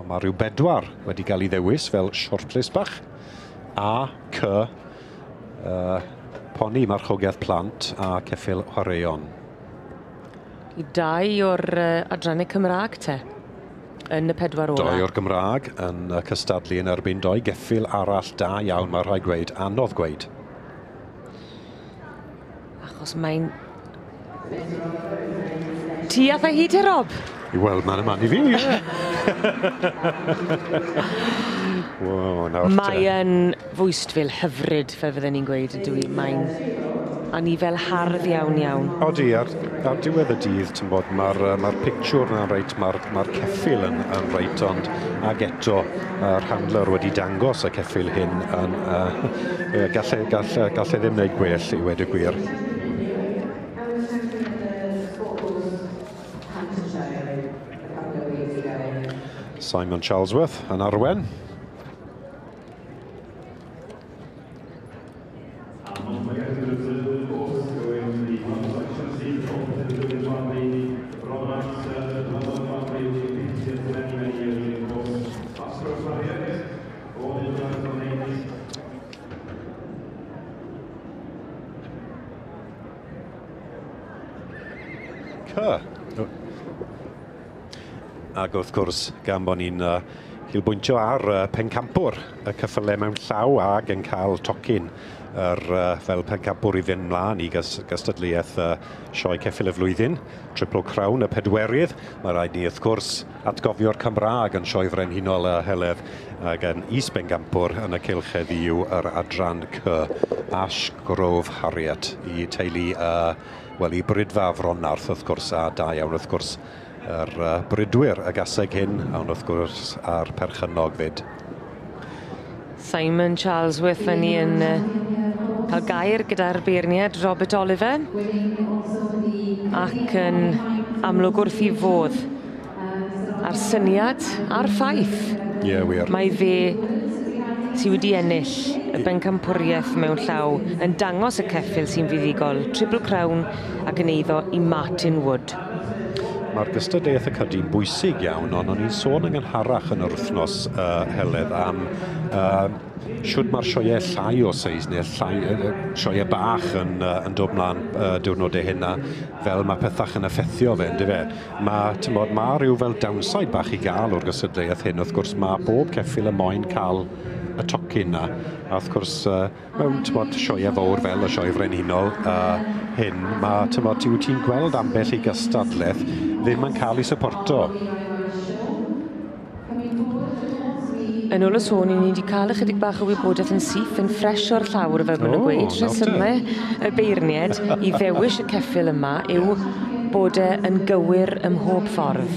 Ond mae rhyw 4 wedi cael ei ddewis fel shortlist bach. A, C, poni marchogaeth plant a ceffyl chwaraeon. I 2 o'r adrannau Cymraeg te, yn y 4 ola. 2 o'r Gymraeg yn cystadlu yn erbyn 2 geffyl arall da iawn, mae rhaid gweud, anodd gweud. Achos mae'n... Ti a hi te, Rob? I weld man y man i fi, ie. Wow, nawr te. Mae yn fwystfil hyfryd, fel fydden ni'n gweud, ydw i. Mae'n anifel hardd iawn iawn. Odi, ar diwedd y dydd, ti'n bod, mae'r pictiwr na'n reit, mae'r ceffyl yn reit, ond ag eto, yr handler wedi dangos y ceffyl hyn yn, gallai ddim wneud gwell i weud y gwir. Simon Charlesworth yn arwen. Ac wrth gwrs, gan bod ni'n cilbwyntio ar pencampwr y ceffylau mewn llaw ag yn cael tocyn fel pencampwr i fynd mlaen i gystadleuaeth Sioe Ceffyl y Flwyddyn, Triple Crown y pedwerydd. Mae rhaid ni wrth gwrs atgofio'r Cymraeg yn Sioe Frenhinol y Heledd ac yn is-bencampwr yn y cylch heddiw yr adran C, Ashgrove Harriet, i teulu, wel, i Brydfa Fronarth wrth gwrs, a da iawn wrth gwrs yr brydwyr y gaseg hyn, ond wrth gwrs a'r perchennog fyd. Simon Charlesworth yn ni yn cael gair gyda'r beirniad Robert Oliver ac yn amlwg wrth i fodd a'r syniad a'r ffaith. Ie, wir. Mae fe sydd wedi ennill y bencampwriaeth mewn llaw yn dangos y ceffyl sy'n fuddugol, Triple Crown ac yn eiddo i Martin Wood. Mae'r gystadleuaeth y cydi'n bwysig iawn, ond o'n i'n sôn yn gynharach yn yr wythnos Heledd am shwd mae'r sioeau llai o seis neu llai, sioeau bach yn dod mlaen diwrnodau hynna, fel mae pethach yn effeithio fe, yndyfe? Mae, t'mod, mae rhyw fel downside bach i gael o'r gystadleuaeth hyn. Wrth gwrs, mae bob ceffyl y moyn cael y tocyn na. A wrth gwrs, mewn, t'mod, sioeau fawr fel y Sioe Frenhinol hyn, mae, t'mod, ti'n gweld ambell i gystadleuaeth ddim yn cael ei supporto. Yn ôl y sôn, i ni wedi cael ychydig bach o wybodaeth yn syth, yn ffres o'r llawr, fel maen nhw'n gweud. Rhesymau y beirniad i ddewis y ceffyl yma yw bod e yn gywir ym mhob ffordd.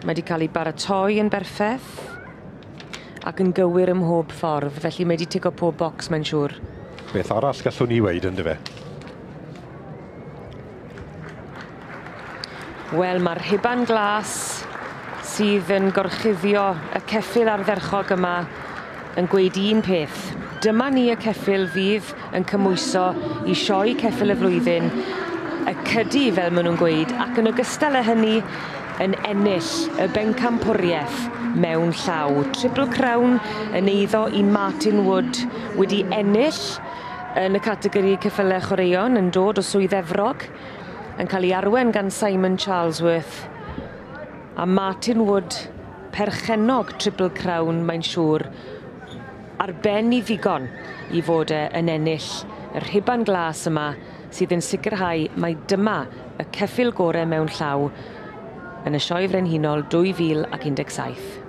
Mae wedi cael ei baratoi yn berffeth ac yn gywir ym mhob ffordd, felly mae wedi tico pob bocs, mae'n siŵr. Beth arall gallwn ni weud, yndyfe? Wel, mae'r rhuban glas sydd yn gorchuddio y ceffyl ardderchog yma yn gweud un peth. Dyma ni y ceffyl fydd yn cymhwyso i Sioe Ceffyl y Flwyddyn, y cydi, fel maen nhw'n gweud, ac yn ogystal â hynny yn ennill y bencampwriaeth mewn llaw. Triple Crown yn eiddo i Martin Wood wedi ennill yn y categori ceffylau chwaraeon yn dod o Swydd Efrog, yn cael ei arwen gan Simon Charlesworth. A Martin Wood, perchennog Triple Crown, mae'n siŵr, ar ben i ddigon i fod e yn ennill y rhuban glas yma sydd yn sicrhau mai dyma y ceffyl gorau mewn llaw yn y Sioe Frenhinol 2017.